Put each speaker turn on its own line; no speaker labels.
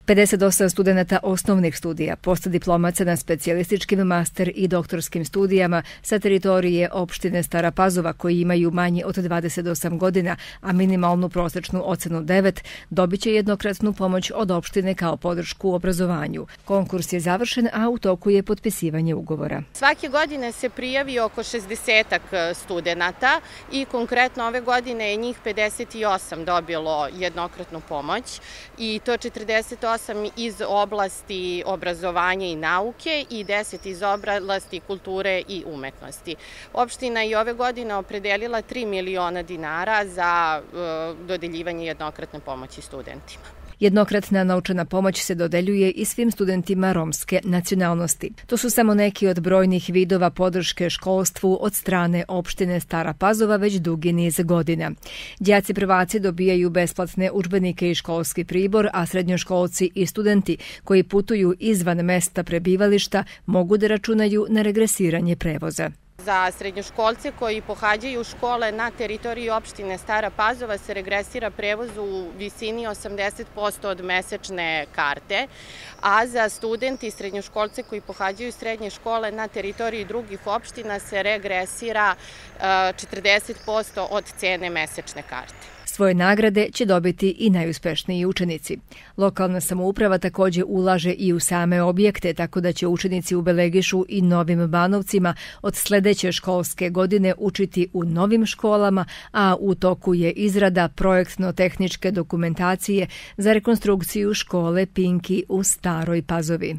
58 studenata osnovnih studija, postdiplomaca na specijalističkim master i doktorskim studijama sa teritorije opštine Stara Pazova koji imaju manje od 28 godina, a minimalnu prosečnu ocenu 9, dobit će jednokratnu pomoć od opštine kao podršku u obrazovanju. Konkurs je završen, a u toku je potpisivanje ugovora.
Svake godine se prijavi oko 60 studenata i konkretno ove godine je njih 58 dobilo jednokratnu pomoć i to 48 iz oblasti obrazovanja i nauke i 10 iz oblasti kulture i umetnosti. Opština je ove godine opredelila 3 miliona dinara za dodeljivanje jednokratne pomoći studentima.
Jednokratna novčana pomoć se dodeljuje i svim studentima romske nacionalnosti. To su samo neki od brojnih vidova podrške školstvu od strane opštine Stara Pazova već dugi niz godina. Đaci prvaci dobijaju besplatne udžbenike i školski pribor, a srednjoškolci i studenti koji putuju izvan mesta prebivališta mogu da računaju na regresiranje prevoza.
Za srednjoškolce koji pohađaju škole na teritoriji opštine Stara Pazova se regresira prevoz u visini 80% od mesečne karte, a za studenti i srednjoškolce koji pohađaju srednje škole na teritoriji drugih opština se regresira 40% od cene mesečne karte.
Svoje nagrade će dobiti i najuspešniji učenici. Lokalna samouprava također ulaže i u same objekte, tako da će učenici u Belegišu i Novim Banovcima od sljedeće školske godine učiti u novim školama, a u toku je izrada projektno-tehničke dokumentacije za rekonstrukciju škole Pinki u Staroj Pazovi.